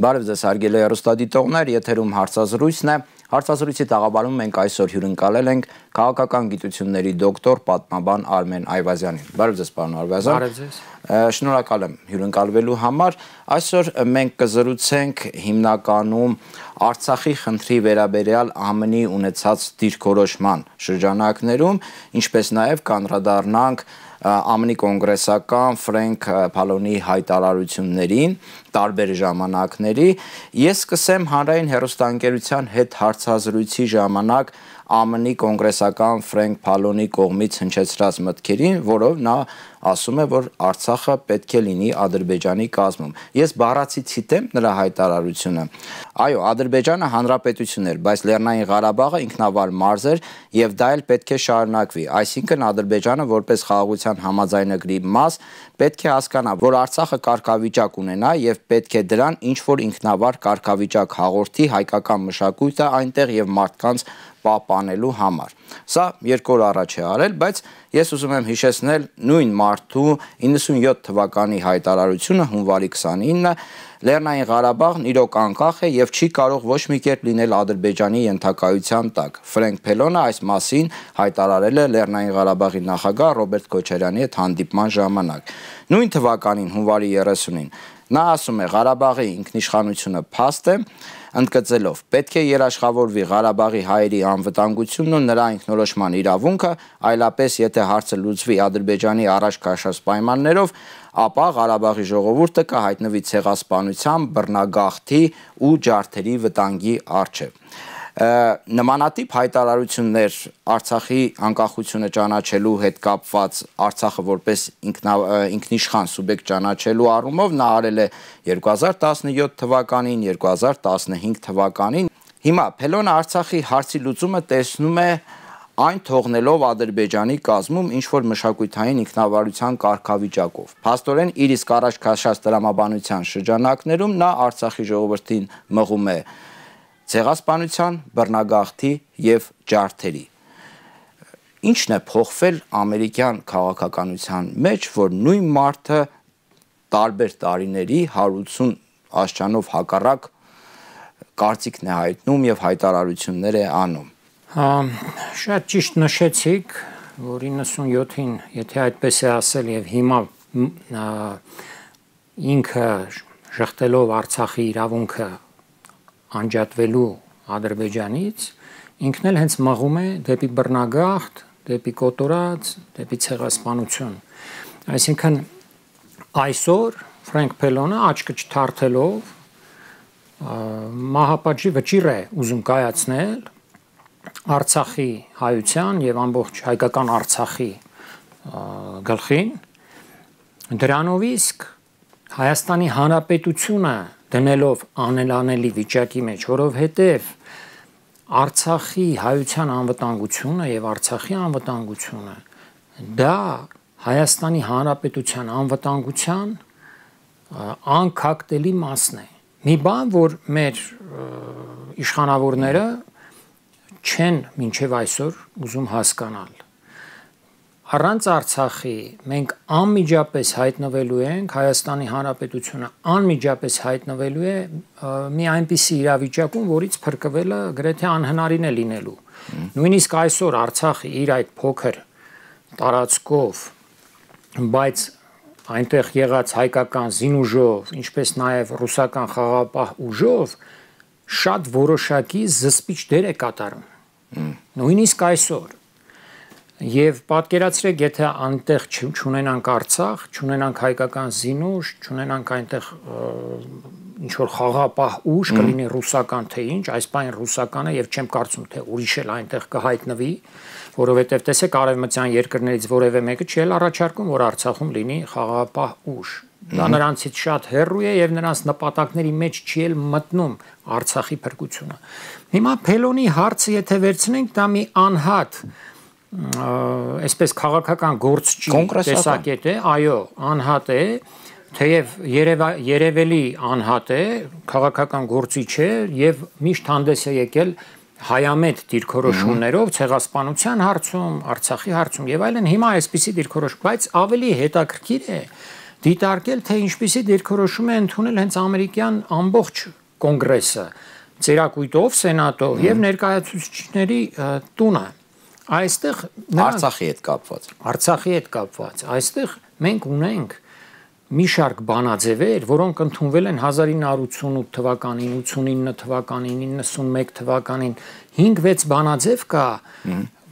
Բարև ձեզ հարգելի հեռուստադիտողներ, եթերում հարցազրույցն է։ Հարցազրույցի տաղավարում մենք այսօր հյուրընկալել ենք քաղաքական գիտությունների դոկտոր պատմաբան Արմեն Այվազյանին։ Բարև ձեզ, պարոն Այվազյան։ Բարև ձեզ։ Շնորհակալ եմ հյուրընկալվելու համար։ Այսօր մենք կզրուցենք հիմնականում Արցախի խնդրի վերաբերյալ ԱՄՆ-ի ունեցած դիրքորոշման շրջանակներում, ինչպես նաև կանդրադառնանք ԱՄՆ-ի կոնգրեսական Ֆրենկ Փալոնի հայտարարություններին տարբեր ժամանակների։ Ես սկսեմ հանրային հեռուստաընկերության հետ հարցազրույցի ժամանակ ԱՄՆ-ի կոնգրեսական Ֆրենկ Փալոնի կողմից հնչեցրած մտքերին, որով նա ասում է, որ Արցախը պետք է լինի Ադրբեջանի կազմում։ Ես բառացի ցիտեմ նրա հայտարարությունը։ Այո, Ադրբեջանը հանրապետություն էր, բայց Լեռնային Ղարաբաղը ինքնավար մարզ էր եւ դա էլ պետք է շարունակվի։ Այսինքն Ադրբեջանը որպես խաղաղության համաձայնագրի մաս պետք է հասկանա, որ Արցախը կարգավիճակ ունենա եւ պետք է դրան ինչ որ ինքնավար կարգավիճակ հաղորդի հայկական մշակույթը այնտեղ եւ մարդկանց պահպանելու համար։ Սա 2 օր առաջ է արել, բայց ես ուզում եմ հիշեցնել նույն մարդու 97 թվականի հայտարարությունը հունվարի 29-ը Լեռնային Ղարաբաղն իրոք անկախ է եւ չի կարող ոչ մի կերպ լինել Ադրբեջանի ենթակայության տակ։ Ֆրենկ Փելոնը այս մասին հայտարարել է Լեռնային Ղարաբաղի նախագահ Ռոբերտ Քոչարյանի հետ հանդիպման ժամանակ։ Նույն թվականին հունվարի 30-ին նա ասում է Ղարաբաղի ինքնիշխանությունը փաստ է, ընդգծելով պետք է երաշխավորվի Ղարաբաղի հայերի անվտանգությունն ու նրա ինքնորոշման իրավունքը, այլապես եթե հարցը լուծվի Ադրբեջանի առաջ քաշած պայմաններով, ապա Ղարաբաղի ժողովուրդը կհայտնվի ցեղասպանության, բռնագաղթի ու ջարդերի վտանգի առջև։ Նմանատիպ հայտարարություններ Արցախի անկախությունը ճանաչելու հետ կապված Արցախը որպես ինքնիշխան սուբյեկտ ճանաչելու առումով նա արել է 2017 թվականին, 2015 թվականին։ Հիմա Փելոնը Արցախի հարցի լուծումը տեսնում է այն թողնելով Ադրբեջանի կազմում ինչ-որ մշակութային ինքնավարության կարգավիճակով։ Փաստորեն իր իսկ առաջ քաշած տրամաբանության շրջանակներում նա Արցախի ժողովրդին մղում է ցեղասպանության, բռնագաղթի եւ ջարդերի։ Ինչն է փոխվել ամերիկյան քաղաքականության մեջ, որ նույն մարդը տարբեր տարիների 180 աշճանով հակառակ կարծիքն է հայտնում եւ հայտարարություններ է անում։ Շատ ճիշտ նշեցիք, որ 97-ին, եթե այդպես է ասել եւ հիմա ինքը շղթելով Արցախի իրավունքը անջատվելու Ադրբեջանից, ինքն էլ հենց մղում է դեպի բռնագաղթ, դեպի կոտորած, դեպի ցեղասպանություն։ Այսինքն այսօր Ֆրենկ Փելոնը աչքը չթարթելով մահապատժի վճիռ է ուզում կայացնել Արցախի հայության եւ ամբողջ հայկական Արցախի գլխին, դրանով իսկ Հայաստանի Հանրապետությունը դնելով անելանելի վիճակի մեջ, որովհետև Արցախի հայության անվտանգությունը եւ Արցախի անվտանգությունը դա Հայաստանի Հանրապետության անվտանգության անկախտելի մասն է։ Մի բան, որ մեր իշխանավորները չեն մինչև այսօր ուզում հասկանալ։ Առանց Արցախի մենք անմիջապես հայտնվելու ենք, Հայաստանի Հանրապետությունը անմիջապես հայտնվելու է մի այնպիսի իրավիճակում, որից փրկվելը գրեթե անհնարին է լինելու։ Նույնիսկ այսօր Արցախը իր այդ փոքր տարածքով, բայց այնտեղ եղած հայկական զինուժով, ինչպես նաև ռուսական խաղաղապահ ուժով շատ որոշակի զսպիչ դեր է կատարում։ Նույնիսկ այսօր Եվ պատկերացրեք, եթե անտեղ չունենանք Արցախ, չունենանք հայկական զինուժ, չունենանք այնտեղ ինչ-որ խաղաղապահ ուժ, կլինի ռուսական թե ինչ, այս բանը ռուսականը եւ չեմ կարծում թե ուրիշ էլ այնտեղ կհայտնվի, որովհետեւ տեսեք արևմտյան երկրներից որևէ մեկը չի էլ առաջարկում, որ Արցախում լինի խաղաղապահ ուժ։ Դա նրանցից շատ հեռու է եւ նրանց նպատակների մեջ չի էլ մտնում Արցախի փրկությունը։ Հիմա Փելոնի հարցը եթե վերցնենք, դա մի անհատ այսպես քաղաքական գործչի տեսակետ է, այո, անհատ է, թեև երևելի անհատ է, քաղաքական գործիչ է եւ միշտ հանդես է եկել հայամետ դիրքորոշումներով ցեղասպանության հարցում, Արցախի հարցում եւ այլն, հիմա այսպիսի դիրքորոշում, բայց ավելի հետաքրքիր է, դիտարկել, թե ինչպիսի դիրքորոշում է ընդունել հենց ամերիկյան ամբողջ կոնգրեսը, ծերակույտով, սենատով եւ ներկայացուցիչների տունը։ Այստեղ Արցախի հետ կապված։ Այստեղ մենք ունենք մի շարք բանաձևեր, որոնք ընդունվել են 1988 թվականին, 89 թվականին, 91 թվականին, 5-6 բանաձև կա,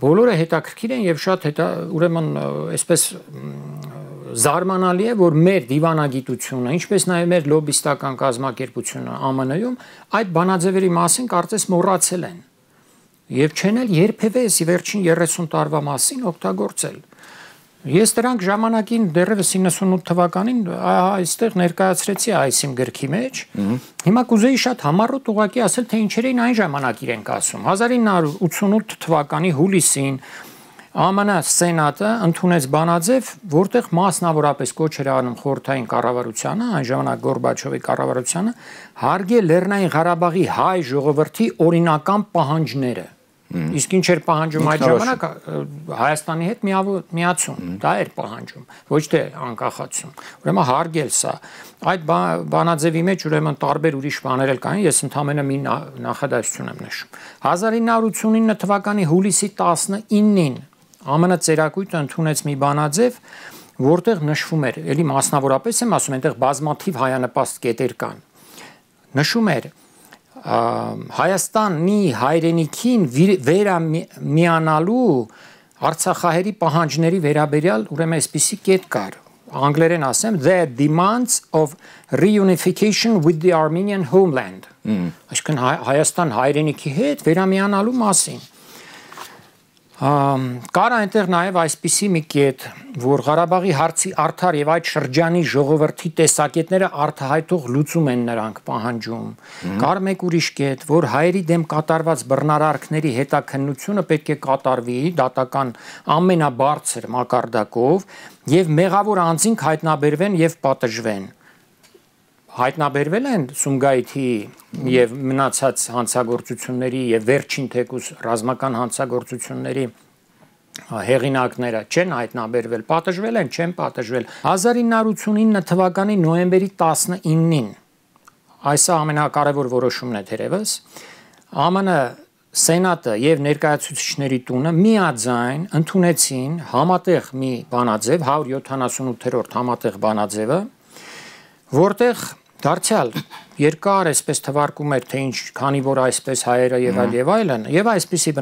բոլորը հետաքրքիր են եւ շատ ուրեմն այսպես զարմանալի է, որ մեր դիվանագիտությունը, ինչպես նաեւ մեր լոբիստական կազմակերպությունը ԱՄՆ-ում այդ բանաձևերի մասին կարծես մոռացել են եւ չեն էլ երբևէ վերջին 30 տարվա մասին օգտագործել։ Ես դրանք ժամանակին դեռևս 98 թվականին այստեղ ներկայացրեցի այս իմ գրքի մեջ։ Հիմա կուզեի շատ համառոտ ուղղակի ասել, թե ինչեր էին այն ժամանակ իրենք ասում։ 1988 թվականի հուլիսին ԱՄՆ սենատը ընդունեց բանաձև, որտեղ մասնավորապես կոչ էր անում խորհրդային կառավարությանը, այն ժամանակ Գորբաչովի կառավարությանը, հարգել Լեռնային Ղարաբաղի հայ ժողովրդի օրինական պահանջները։ Իսկ ինչ էր պահանջում այդ ժամանակ Հայաստանի հետ միացում, դա էր պահանջում, ոչ թե անկախացում։ Ուրեմն հարգել սա։ Այդ բանաձևի մեջ ուրեմն տարբեր ուրիշ բաներ էլ կային, ես ընդամենը մի նախադասություն եմ նշում։ 1989 թվականի հուլիսի 19-ին ԱՄՆ ծերակույտը ընդունեց մի բանաձև, որտեղ նշվում էր, ելի մասնավորապես եմ ասում, այնտեղ բազմաթիվ հայանպաստ կետեր կան։ Նշում էր Հայաստանի հայրենիքին վերամիանալու Արցախահայերի պահանջների վերաբերյալ ուրեմն այսպիսի կետ կար։ Անգլերեն ասեմ, the demands of reunification with the Armenian homeland։ Այսինքն Հայաստան հայրենիքի հետ վերամիանալու մասին։ Կար այնտեղ նաև այսպիսի մի կետ, որ Ղարաբաղի հարցի արդար եւ այդ շրջանի ժողովրդի տեսակետները արտահայտող լուծում են նրանք պահանջում։ Կար մեկ ուրիշ կետ, որ հայերի դեմ կատարված բռնարարքների հետաքննությունը պետք է կատարվի դատական ամենաբարձր մակարդակով եւ մեղավոր անձինք հայտնաբերվեն եւ պատժվեն։ Հայտնաբերվել են Սումգայիթի եւ մնացած հանցագործությունների եւ վերջին թեկուզ ռազմական հանցագործությունների հեղինակները չեն հայտնաբերվել, պատժվել են, չեն պատժվել։ 1989 թվականի նոյեմբերի 19-ին այսա ամենակարևոր որոշումն է թերևս ԱՄՆ սենատը եւ ներկայացուցիչների տունը միաձայն ընդունեցին համատեղ մի բանաձև 178-րդ համատեղ բանաձևը, որտեղ դարձյալ երկար այսպես թվարկում էր, թե ինչ, քանի որ այսպես հայերը եւ այլն, եւ այսպիսի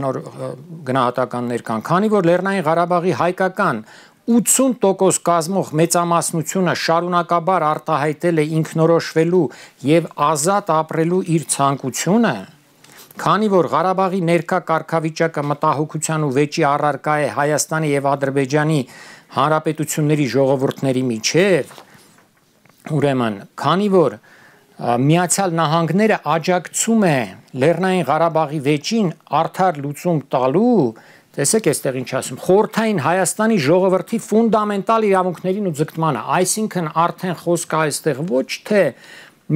գնահատականներ կան, քանի որ Լեռնային Ղարաբաղի հայկական 80% կազմող մեծամասնությունը շարունակաբար արտահայտել է ինքնորոշվելու եւ ազատ ապրելու իր ցանկությունը, քանի որ Ղարաբաղի ներկա կարգավիճակը մտահոգության ու վեճի առարկա է Հայաստանի եւ Ադրբեջանի հանրապետությունների ժողովուրդների միջեւ, ուրեմն, քանի որ Միացյալ Նահանգները աջակցում է Լեռնային Ղարաբաղի վեճին արդար լուծում տալու, տեսեք այստեղ ինչ ասում, խորհրդային Հայաստանի ժողովրդի ֆունդամենտալ իրավունքներին ու ձգտմանը, այսինքն արդեն խոսքը այստեղ ոչ թե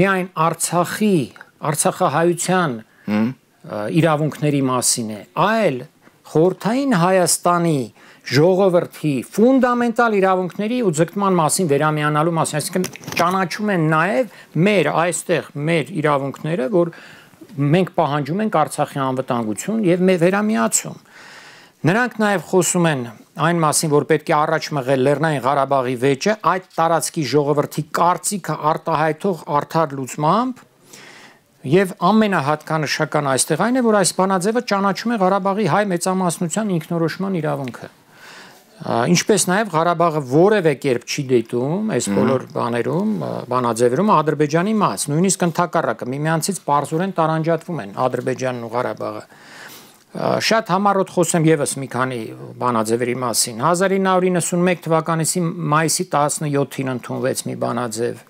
միայն Արցախահայության իրավունքների մասին է, այլ խորհրդային Հայաստանի ժողովրդի ֆունդամենտալ իրավունքների ու ձգտման մասին վերամիանալու մասին, այսինքն ճանաչում են նաև մեր այստեղ մեր իրավունքները, որ մենք պահանջում ենք Արցախի անվտանգություն եւ վերամիացում։ Նրանք նաև խոսում են այն մասին, որ պետք է առաջ մղել Լեռնային Ղարաբաղի վեճը այդ տարածքի ժողովրդի կարծիքը արտահայտող արդար լուծմամբ եւ ամենահատկանշական այստեղ այն է, որ այս բանաձևը ճանաչում է Ղարաբաղի հայ մեծամասնության ինքնորոշման իրավունքը։ Ինչպես նաև Ղարաբաղը որևէ կերպ չի դիտում այս բոլոր բանաձևերում Ադրբեջանի մաս, նույնիսկ ընդհակառակը միմյանցից պարզորեն տարանջատվում են Ադրբեջանն ու Ղարաբաղը։ Շատ համառոտ խոսեմ եւս մի քանի բանաձևերի մասին։ 1991 թվականի մայիսի 17-ին ընդունվեց մի բանաձև,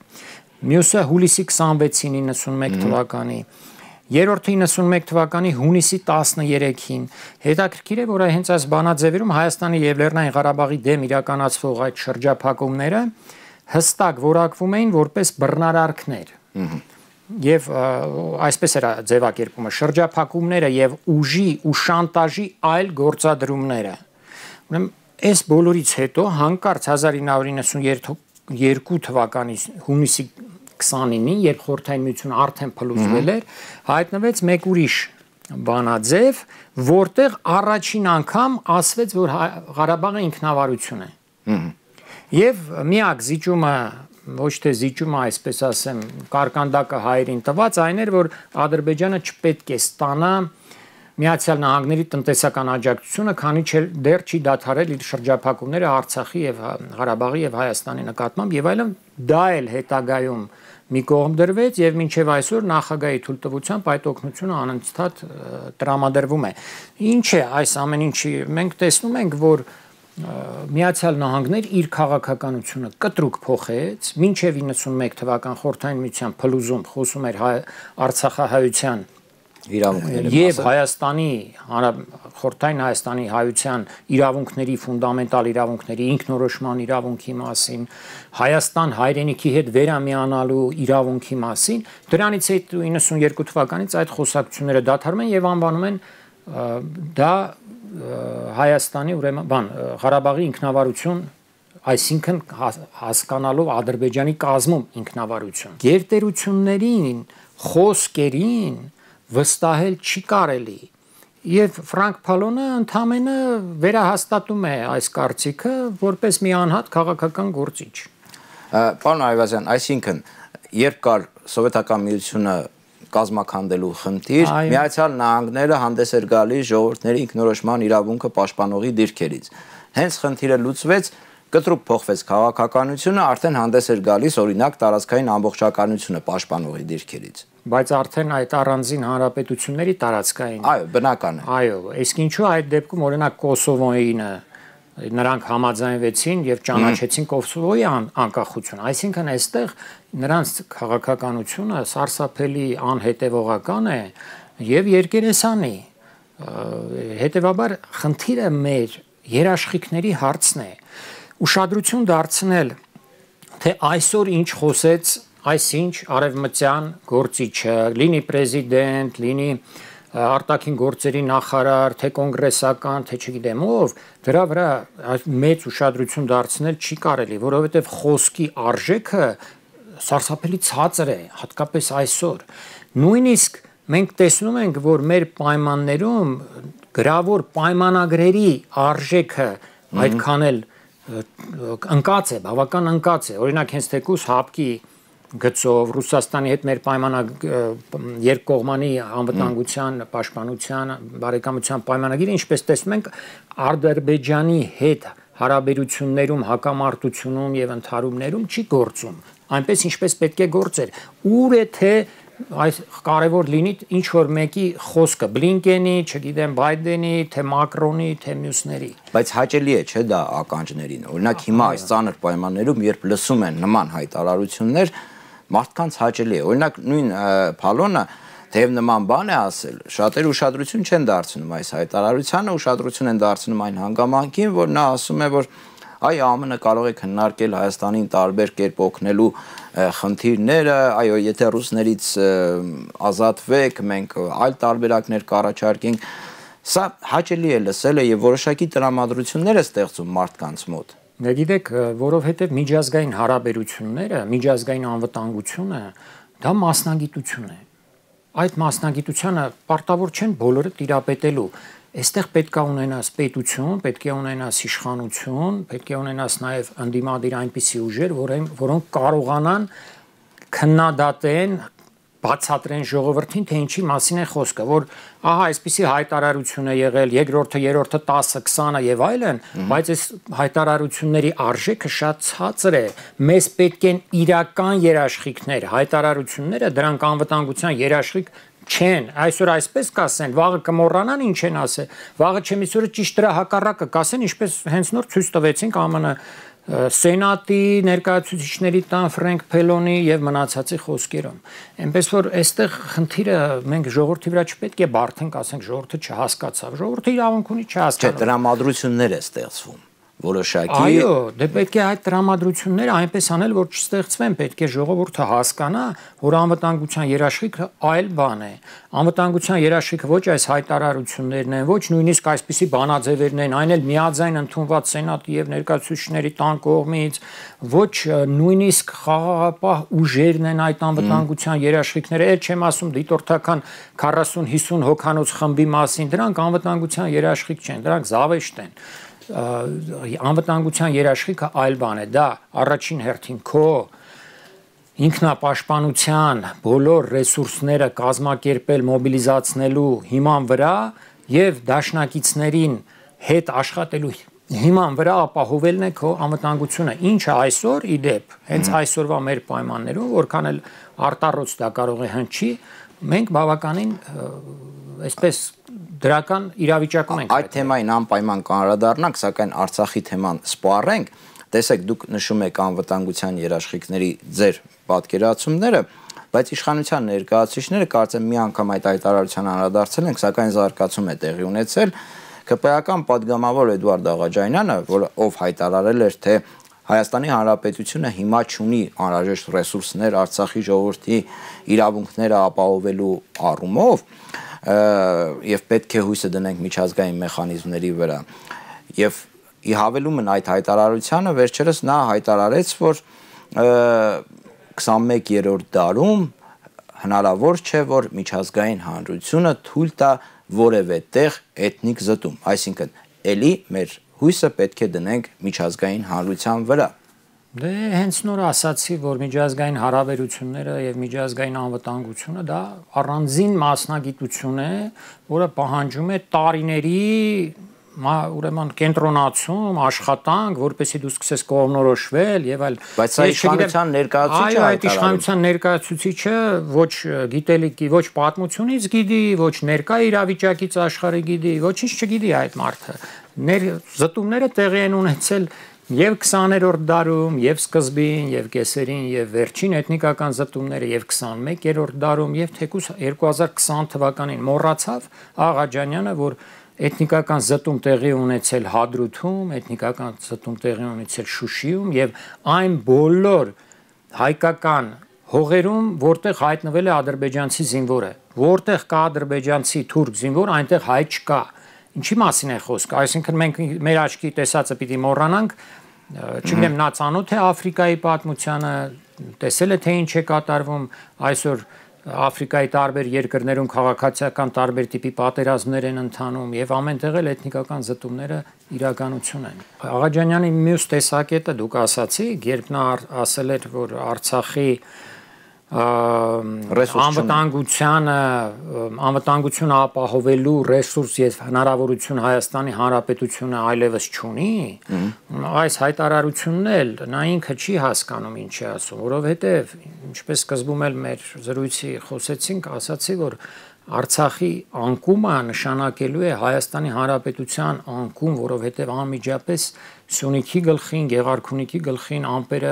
մյուսը հուլիսի 26-ին 91 թվականի, երրորդը 91 թվականի հունիսի 13-ին։ Հետաքրքիր է, որ հենց այս բանաձևերում Հայաստանի եւ Լեռնային Ղարաբաղի դեմ իրականացվող այդ շրջափակումները հստակ որակվում էին որպես բռնարարքներ։ Եվ այսպես էր ձևակերպումը շրջափակումները եւ ուժի ու շանտաժի այլ գործադրումները։ Ուրեմն այս բոլորից հետո հանկարծ 1992 2002 թվականի հունիսի 29-ին, երբ Խորհրդային Միությունը արդեն փլուզվել էր, հայտնվեց մեկ ուրիշ բանաձև, որտեղ առաջին անգամ ասվեց, որ Ղարաբաղը ինքնավարություն է։ Եվ միակ զիջումը, ոչ թե զիջումը, այսպես ասեմ, կարկանդակը հայերին տված այն էր, որ Ադրբեջանը չպետք է ստանա Միացյալ Նահանգների տնտեսական աջակցությունը, քանի չէ դեռ չի դադարել իր շրջափակումները Արցախի եւ Ղարաբաղի եւ Հայաստանի նկատմամբ եւ այլն, դա էլ հետագայում մի կողմ դրվեց եւ մինչեւ այսօր նախագահի թույլտվությամբ այդ օգնությունը անընդհատ տրամադրվում է։ Ինչ է այս ամեն ինչի, մենք տեսնում ենք, որ Միացյալ Նահանգներ իր քաղաքականությունը կտրուկ փոխեց, մինչեւ 91 թվական Խորհրդային Միության փլուզում խոսում էր Արցախահայության եւ Հայաստանի Խորհրդային Հայաստանի հայության իրավունքների, ֆունդամենտալ իրավունքների, ինքնորոշման իրավունքի մասին, Հայաստան հայրենիքի հետ վերամիանալու իրավունքի մասին, դրանից հետո 92 թվականից այդ խոսակցությունները դադարում են եւ անվանում են դա Հայաստանի ուրեմն Ղարաբաղի ինքնավարություն, այսինքն հասկանալով Ադրբեջանի կազմում ինքնավարություն։ Գերտերություններին, խոսքերին վստահել չի կարելի եւ Ֆրանկ Փալոնը ընդամենը վերահաստատում է այս կարծիքը որպես մի անհատ քաղաքական գործիչ։ Պարոն Այվազյան, այսինքն երբ կար սովետական միությունը կազմակերպելու խնդիր, Միացյալ Նահանգները հանդես էր գալիս ժողովուրդների ինքնորոշման իրավունքը պաշտպանողի դիրքերից։ Հենց խնդիրը լուծվեց, կտրուկ փոխվեց քաղաքականությունը, արդեն հանդես էր գալիս օրինակ տարածքային ամբողջականությունը պաշտպանողի դիրքերից։ Բայց արդեն այդ առանձին հանրապետությունների տարածքային։ Այո, բնական է։ Այո, իսկ ինչու այդ դեպքում օրինակ Կոսովոյինը նրանք համաձայնվեցին եւ ճանաչեցին Կոսովոյի անկախությունը, այսինքն այստեղ նրանց քաղաքականությունը սարսափելի անհետևողական է եւ երկերեսանի։ Հետեւաբար խնդիրը մեր երաշխիքների հարցն է։ Ուշադրություն դարձնել, թե այսօր ինչ խոսեց այսինչ արևմտյան գործիչը, լինի պրեզիդենտ, լինի արտաքին գործերի նախարար, թե կոնգրեսական, թե չգիտեմ ով, դրա վրա մեծ ուշադրություն դարձնել չի կարելի, որովհետև խոսքի արժեքը սարսափելի ցածր է, հատկապես այսօր։ Նույնիսկ մենք տեսնում ենք, որ մեր պայմաններում գրավոր պայմանագրերի արժեքը այդքան էլ ընկած է, բավական ընկած է։ Օրինակ հենց թեկուզ ՀԱՊԿ-ի գծով Ռուսաստանի հետ մեր երկկողմանի անվտանգության, պաշտպանության, բարեկամության պայմանագիրը, ինչպես տեսնում ենք, Ադրբեջանի հետ հարաբերություններում, հակամարտությունում եւ ընդհարումներում չի գործում, այնպես ինչպես պետք է գործեր։ Ուր է թե այս կարևոր լինի ինչ որ մեկի խոսքը, Բլինկենի, չգիտեմ, Բայդենի, թե Մակրոնի, թե մյուսների։ Բայց հաճելի է, չէ՞ դա ականջներին։ Օրինակ հիմա այս ծանր պայմաններում, երբ լսում են նման հայտարարություններ, մարդկանց հաճելի է։ Օրինակ նույն Փալոնը թեև նման բան է ասել, շատերը ուշադրություն չեն դարձնում այս հայտարարությանը, ուշադրություն են դարձնում այն հանգամանքին, որ նա ասում է, որ այ ԱՄՆ-ը կարող է քննարկել Հայաստանին տարբեր կերպ օգնելու խնդիրները, այո, եթե ռուսներից ազատվեք, մենք այլ տարբերակներ կառաջարկենք։ Սա հաճելի է լսելը եւ որոշակի տրամադրություններ է ստեղծում մարդկանց մոտ։ Գիտեք, որովհետեւ միջազգային հարաբերությունները, միջազգային անվտանգությունը դա մասնագիտություն է։ Այդ մասնագիտությանը պարտավոր չեն բոլորը տիրապետելու։ Այստեղ պետք է ունենաս պետություն, պետք է ունենաս իշխանություն, պետք է ունենաս նաև ընդդիմադիր այնպիսի ուժեր, որոնք կարողանան քննադատեն, բացատրեն ժողովրդին, թե ինչի մասին է խոսքը, որ ահա այսպիսի հայտարարություն է եղել, երկրորդը, երրորդը, 10-ը, 20-ը եւ այլն, բայց այս հայտարարությունների արժեքը շատ ցածր է։ Մեզ պետք են իրական երաշխիքներ, հայտարարությունները դրանք անվտանգության երաշխիք չեն, այսօր այսպես կասեն, վաղը կմոռանան ինչ են ասել, վաղը չեմիսորը ճիշտ դրա հակառակը կասեն, ինչպես հենց նոր ցույց տվեցինք ԱՄՆ Սենատի ներկայացուցիչների տան Ֆրենկ Փելոնի եւ մնացածի խոսքերում։ Այնպես որ այստեղ խնդիրը մենք ժողովրդի վրա չպետք է բարթենք, ասենք ժողովուրդը չհասկացավ, ժողովուրդը իրավունք ունի չհասկանալ։ Չէ, տրամադրություններ է ստեղծվում, որոշակի Այո, դե պետք է այդ տրամադրությունները այնպես անել, որ չստեղծվեն, պետք է ժողովուրդը հասկանա, որ անվտանգության երաշխիքը այլ բան է։ Անվտանգության երաշխիքը ոչ այս հայտարարություններն են, ոչ նույնիսկ այսպիսի բանաձևերն են, այն էլ միաձայն ընդունված սենատի եւ ներկայացուցիչների տան կողմից, ոչ նույնիսկ խաղաղապահ ուժերն են այդ անվտանգության երաշխիքները, էլ չեմ ասում դիտորդական 40-50 հոգանոց խմբի մասին, դրանք անվտանգության երաշխիք չեն, դրանք զավեշտ են։ Անվտանգության երաշխիքը այլ բան է, դա առաջին հերթին քո ինքնապաշտպանության բոլոր ռեսուրսները կազմակերպել, մոբիլիզացնելու հիման վրա եւ դաշնակիցներին հետ աշխատելու հիման վրա ապահովելն է քո անվտանգությունը, ինչը այսօր իդեպ, հենց այսօրվա մեր պայմաններում, որքան էլ արտառոց դա կարող է հնչի, մենք բավականին այսպես դրական իրավիճակում ենք։ Այդ թեմային անպայման կանդրադառնանք, սակայն Արցախի թեման սպառենք։ Տեսեք, դուք նշում եք անվտանգության երաշխիքների ձեր պատկերացումները, բայց իշխանության ներկայացուցիչները կարծեմ մի անգամ այդ հայտարարության անդրադարձել են, սակայն զարգացում է տեղի ունեցել։ ԿՊ-ական падգամավոր Էդուարդ Աղաջանյանը, ով հայտարարել էր, թե Հայաստանի Հանրապետությունը հիմա չունի անհրաժեշտ ռեսուրսներ Արցախի ժողովրդի իրավունքները ապահովելու առումով, եւ պետք է հույսը դնենք միջազգային մեխանիզմների վրա։ Եվ ի հավելումն այդ հայտարարությանը վերջերս նա հայտարարեց, որ 21-րդ դարում հնարավոր չէ, որ միջազգային հանրությունը թույլ տա որևէ տեղ էթնիկ զտում, այսինքն էլի մեր հույսը պետք է դնենք միջազգային հանրության վրա։ Դե հենց նոր ասացի, որ միջազգային հարաբերությունները եւ միջազգային անվտանգությունը դա առանձին մասնագիտություն է, որը պահանջում է տարիների ուրեմն կենտրոնացում, աշխատանք, որպեսզի դու սկսես կողմնորոշվել եւ այլ։ Բայց սա իշխանության ներկայացուցիչը այո, այդ իշխանության ներկայացուցիչը ոչ գիտելիքի, ոչ պատմությունից գիտի, ոչ ներկա իրավիճակից աշխարհը գիտի, ոչինչ չգիտի այդ մարդը։ Զտումները տեղի են ունեցել եւ 20-րդ դարում, եւ սկզբին, եւ կեսերին, եւ վերջին էթնիկական զտումները, եւ 21-րդ դարում, եւ թեկուզ 2020 թվականին մոռացավ Աղաջանյանը, որ էթնիկական զտում տեղի ունեցել Հադրութում, էթնիկական զտում տեղի ունեցել Շուշիում եւ այն բոլոր հայկական հողերում, որտեղ հայտնվել է ադրբեջանցի զինվորը, որտեղ կա ադրբեջանցի թուրք զինվոր, այնտեղ հայ չկա։ Ինչի մասին է խոսքը, այսինքն մենք մեր աչքի տեսածը պիտի մոռանանք, չգիտեմ, նա ծանոթ է Աֆրիկայի պատմությանը, տեսել է թե ինչ է կատարվում այսօր Աֆրիկայի տարբեր երկրներում քաղաքացիական տարբեր տիպի պատերազմներ են ընթանում եւ ամենտեղ էլ էթնիկական զտումները իրականություն են։ Աղաջանյանի մյուս տեսակետը դուք ասացիք, երբ նա ասել էր, որ Արցախի անվտանգությունը ապահովելու ռեսուրս եւ հնարավորություն Հայաստանի Հանրապետությունը այլևս չունի, այս հայտարարությունն էլ նա ինքը չի հասկանում ինչ է ասում, որովհետեւ ինչպես սկզբում էլ մեր զրույցի խոսեցինք, ասացի, որ Արցախի անկումը նշանակելու է Հայաստանի Հանրապետության անկում, որովհետև անմիջապես Սյունիքի գլխին, Գեղարքունիքի գլխին ամպերը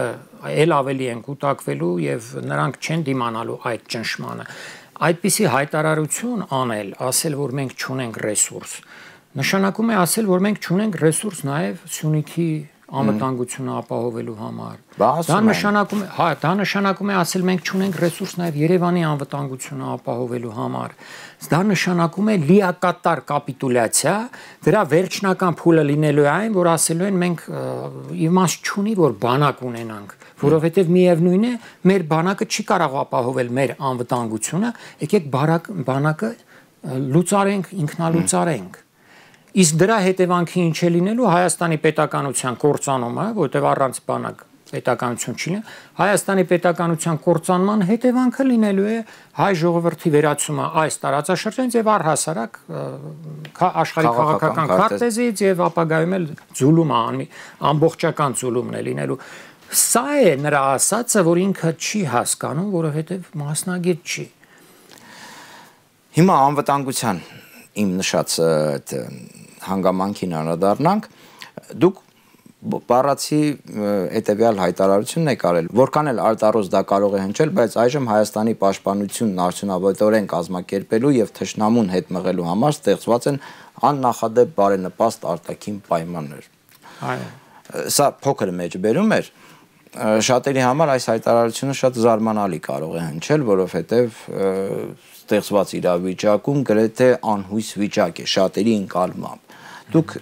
էլ ավելի են կուտակվելու եւ նրանք չեն դիմանալու այդ ճնշմանը։ Այդպիսի հայտարարություն անել, ասել, որ մենք չունենք ռեսուրս, նշանակում է ասել, որ մենք չունենք ռեսուրս նաեւ Սյունիքի անվտանգությունը ապահովելու համար։ Դա նշանակում է ասել մենք չունենք ռեսուրս նաև Երևանի անվտանգությունը ապահովելու համար։ Դա նշանակում է լիակատար կապիտուլյացիա, դրա վերջնական փուլը լինելու է այն, որ ասելու են մենք իմաստ չունի, որ բանակ ունենանք, որովհետև միևնույն է, մեր բանակը չի կարող ապահովել մեր անվտանգությունը, եկեք բանակը լուծարենք, ինքնալուծարենք։ Իսկ դրա հետևանքի ինչ է լինելու Հայաստանի պետականության կործանումը, որտեղ առանց բանակ պետականություն չի լինի, Հայաստանի պետականության կործանման հետևանքը լինելու է հայ ժողովրդի վերացումը այս տարածաշրջանից եւ առհասարակ աշխարհի քաղաքական քարտեզից եւ ապագայում էլ ձուլումը, ամբողջական ձուլումն է լինելու։ Սա է նրա ասածը, որ ինքը չի հասկանում, որովհետեւ մասնագետ չի։ Հիմա անվտանգության իմ նշած հանգամանքին անդրադառնանք, դուք բառացի հետևյալ հայտարարությունն եք արել, որքան էլ արտառոց դա կարող է հնչել, բայց այժմ Հայաստանի պաշտպանությունն արդյունավետորեն կազմակերպելու եւ թշնամուն հետ մղելու համար ստեղծված են աննախադեպ բարենպաստ արտաքին պայմաններ։ Այո։ Սա փոքր մեջ բերում էր, շատերի համար այս հայտարարությունը շատ զարմանալի կարող է հնչել, որովհետև ստեղծված իրավիճակում գրեթե անհույս վիճակ է շատերի ընկալմամբ։ Դուք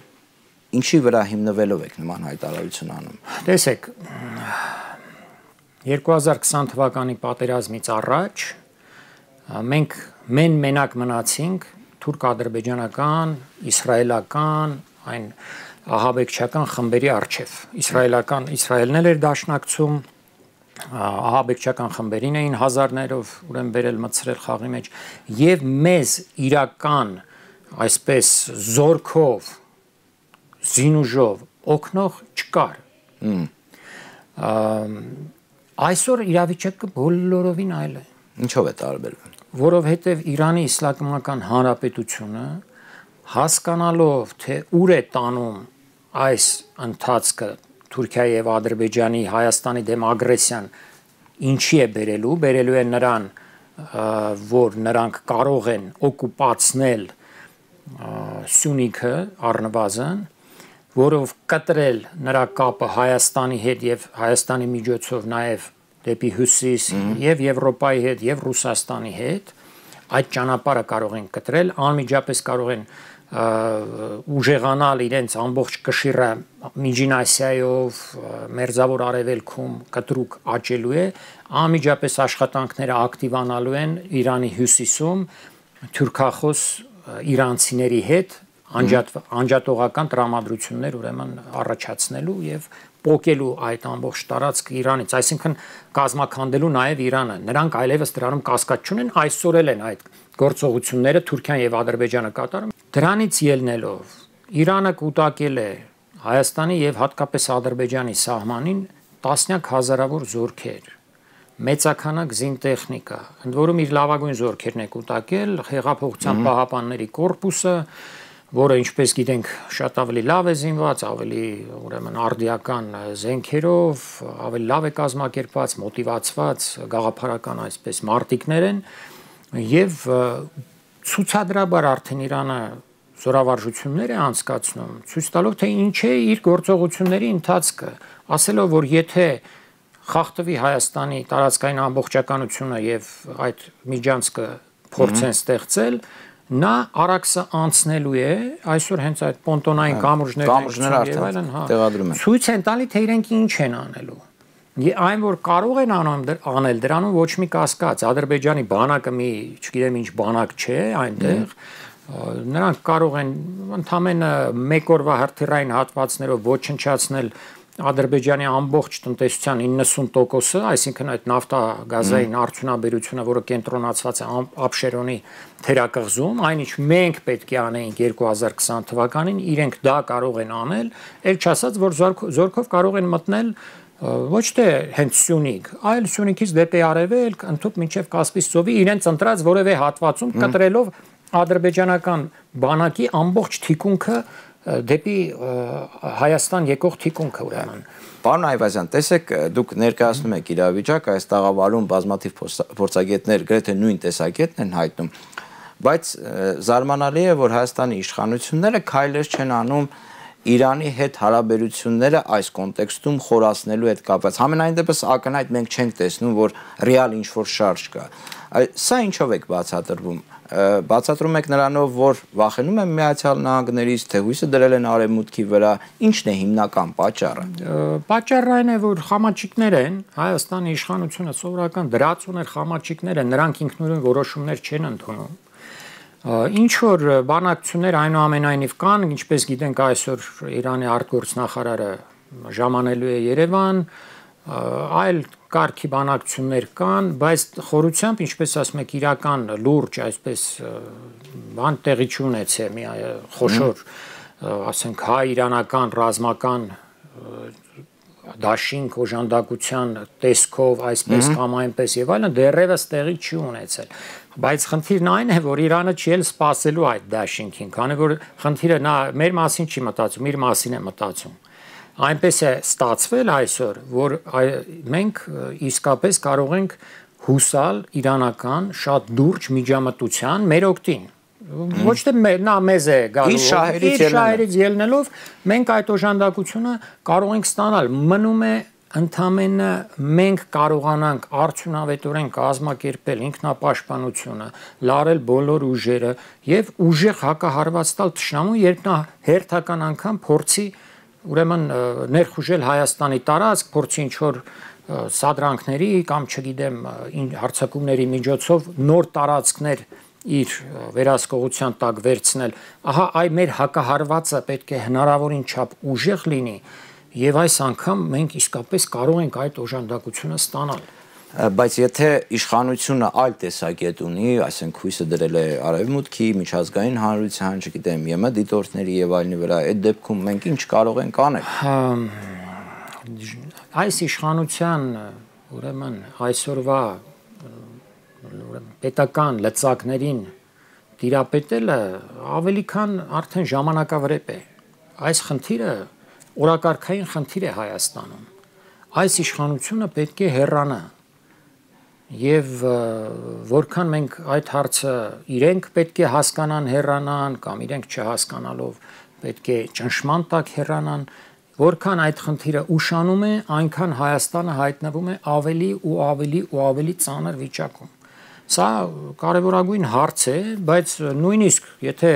ինչի վրա հիմնվելով եք նման հայտարարություն անում։ Տեսեք, 2020 թվականի պատերազմից առաջ մենք մենակ մնացինք թուրք-ադրբեջանական, իսրայելական, այն ահաբեկչական խմբերի առջև։ Իսրայելն էլ էր դաշնակցում, ահաբեկչական խմբերին էին հազարներով ուրեմն բերել մտցրել խաղի մեջ եւ մեզ իրական այսպես զորքով զինուժով օգնող չկար։ Այսօր իրավիճակը բոլորովին այլ է։ Ինչով է տարբերվում։ Որովհետև Իրանի Իսլամական Հանրապետությունը հասկանալով թե ուր է տանում այս ընթացքը Թուրքիայի եւ Ադրբեջանի Հայաստանի դեմ ագրեսիան ինչի է բերելու է նրան, որ նրանք կարող են օկուպացնել Սյունիքը առնվազն, որով կտրել նրա կապը Հայաստանի հետ եւ Հայաստանի միջոցով նաեւ դեպի հյուսիս եւ Եվրոպայի հետ եւ Ռուսաստանի հետ, այդ ճանապարհը կարող են կտրել, անմիջապես կարող են ուժեղանալ իրենց ամբողջ կշիռը Միջին Ասիայով, Մերձավոր Արևելքում կտրուկ աճելու է, անմիջապես աշխատանքները ակտիվանալու են Իրանի հյուսիսում թուրքախոս իրանցիների հետ անջատողական տրամադրություններ ուրեմն առաջացնելու եւ պոկելու այդ ամբողջ տարածքը Իրանից, այսինքն կազմաքանդելու նաև Իրանը։ Նրանք այլևս դրանում կասկած չունեն, այսօր էլ են այդ գործողությունները Թուրքիան եւ Ադրբեջանը կատարում։ Դրանից ելնելով Իրանը կուտակել է Հայաստանի եւ հատկապես Ադրբեջանի սահմանին տասնյակ հազարավոր զորքեր, մեծականակ զինտեխնիկա, ընդ որում իր լավագույն զորքերն է կուտակել, Հեղափոխության պահապանների կորպուսը, որը ինչպես գիտենք շատ ավելի լավ է զինված, ավելի ուրեմն արդիական զենքերով, ավելի լավ է կազմակերպված, մոտիվացված, գաղափարական այսպես մարտիկներ են եւ ցուցադրաբար արդեն Իրանը զորավարժություններ է անցկացնում, ցույց տալով թե ինչ է իր գործողությունների ընթացքը, ասելով որ եթե խախտվի Հայաստանի տարածքային ամբողջականությունը եւ այդ միջանցքը փորձեն ստեղծել, նա արաքսը անցնելու է, այսօր հենց այդ պոնտոնային կամուրջները տեղադրում են։ Ցույց են տալի թե իրենք ինչ են անելու։ Այն որ կարող են անել դրանում ոչ մի կասկած, Ադրբեջանի բանակը մի, չգիտեմ ինչ բանակ չէ այնտեղ, նրանք կարող են ընդամենը մեկ օրվա հրթիռային հատվածներով ոչնչացնել Ադրբեջանի ամբողջ տնտեսության 90%-ը, այսինքն այդ նավթագազային արդյունաբերությունը, որը կենտրոնացված է Աբշերոնի թերակղզում, այնինչ մենք պետք է անեինք 2020 թվականին, իրենք դա կարող են անել, ել չասած, որ զորքով կարող են մտնել ոչ թե հենց Սյունիք, այլ Սյունիքից դեպի արևելք, ընդհուպ մինչև Կասպից ծովի իրենց ընտրած որևէ հատվածում կտրելով ադրբեջանական բանակի ամբողջ թիկունքը դեպի Հայաստան եկող թիկունքը ուրեմն։ Պարոն Այվազյան, տեսեք, դուք ներկայացնում եք իրավիճակը, այս տաղավարում բազմաթիվ փորձագետներ գրեթե նույն տեսակետն են հայտնում, բայց զարմանալի է, որ Հայաստանի իշխանությունները քայլեր չեն անում Իրանի հետ հարաբերությունները այս կոնտեքստում խորացնելու հետ կապված։ Համենայն դեպս ակնհայտ մենք չենք տեսնում, որ ռեալ ինչ-որ շարժ կա։ Սա ինչով եք բացատրվում։ Բացատրում եք նրանով, որ վախենում են Միացյալ Նահանգներից, թե հույսը դրել են Արևմուտքի վրա, ի՞նչն է հիմնական պատճառը։ Պատճառը այն է, որ խամաչիկներ են, Հայաստանի իշխանությունը սովորական դրածուներ խամաչիկներ են, նրանք ինքնուրույն որոշումներ չեն ընդունում։ Ինչ որ բանակցություններ այնուամենայնիվ կան, ինչպես գիտենք այսօր Իրանի արտգործնախարարը ժամանելու է Երևան, այլ կարգի բանակցություններ կան, բայց խորությամբ, ինչպես ասում եք, իրական լուրջ այսպես բան տեղի չունեցե մի խոշոր, ասենք, հայ-իրանական ռազմական դաշինք օժանդակության տեսքով այսպես կամ այնպես եւ այլն դեռևս տեղի չի ունեցել, բայց խնդիրն այն է, որ Իրանը չի էլ սпасելու այդ դաշինքին, քանի որ խնդիրը նա մեր մասին չի մտածում, իր մասին է մտածում։ Այնպես է ստացվել այսօր, որ մենք իսկապես կարող ենք հուսալ իրանական շատ լուրջ միջամտության մեր օգտին, Ոչ թե նա մեզ է գալու, իր շահերից ելնելով մենք այդ օժանդակությունը կարող ենք ստանալ, մնում է ընդամենը մենք կարողանանք արդյունավետորեն կազմակերպել ինքնապաշտպանությունը, լարել բոլոր ուժերը եւ ուժեղ հակահարված տալ թշնամուն, երբ նա հերթական անգամ փորձի ուրեմն ներխուժել Հայաստանի տարածք, փորձի ինչ-որ սադրանքների կամ չգիտեմ հարձակումների միջոցով նոր տարածքներ իր վերահսկողության տակ վերցնել, ահա այ մեր հակահարվածը պետք է հնարավորին չափ ուժեղ լինի եւ այս անգամ մենք իսկապես կարող ենք այդ օժանդակությունը ստանալ։ Բայց եթե իշխանությունը այլ տեսակետ ունի, այսինքն հույսը դրել է արևմուտքի, միջազգային հանրության, չգիտեմ, ԵՄ դիտորդների եւ այլնի վրա, այդ դեպքում մենք ինչ կարող ենք անել։ Այս իշխանության ուրեմն այսօրվա պետական լծակներին տիրապետելը ավելի քան արդեն ժամանակավրեպ է։ Այս խնդիրը օրակարգային խնդիր է Հայաստանում։ Այս իշխանությունը պետք է հեռանա։ Եվ որքան մենք այդ հարցը իրենք պետք է հասկանան հեռանան կամ իրենք չհասկանալով պետք է ճնշման տակ հեռանան, որքան այդ խնդիրը ուշանում է, այնքան Հայաստանը հայտնվում է ավելի ու ավելի ու ավելի ծանր վիճակում։ Սա կարևորագույն հարց է, բայց նույնիսկ եթե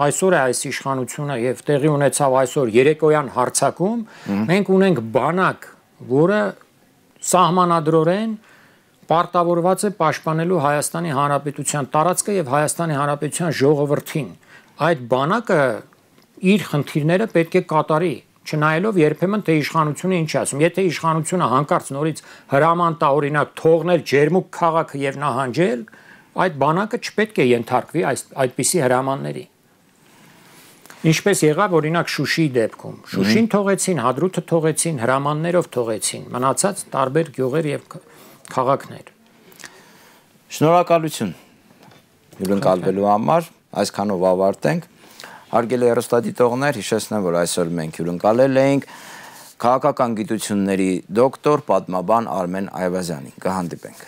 այսօր է այս իշխանությունը եւ տեղի ունեցավ այսօր երեկոյան հարձակում, մենք ունենք բանակ, որը սահմանադրորեն պարտավորված է պաշտպանելու Հայաստանի Հանրապետության տարածքը եւ Հայաստանի Հանրապետության ժողովրդին։ Այդ բանակը իր խնդիրները պետք է կատարի, չնայելով երբեմն թե իշխանությունը ինչ ասում։ Եթե իշխանությունը հանկարծ նորից հրաման տա օրինակ թողնել Ջերմուկ քաղաքը եւ նահանջել, այդ բանակը չպետք է ենթարկվի այդպիսի հրամանների։ Ինչպես եղավ օրինակ Շուշիի դեպքում։ Շուշին թողեցին, Հադրութը թողեցին, հրամաններով թողեցին, մնացած տարբեր գյուղեր եւ քաղաքներ։ Շնորհակալություն հյուրընկալվելու համար, այսքանով ավարտենք։ Հարգելի հեռուստադիտողներ, հիշեցնեմ, որ այսօր մենք հյուրընկալել էինք քաղաքական գիտությունների դոկտոր, պատմաբան Արմեն Այվազյանին։ Կհանդիպենք։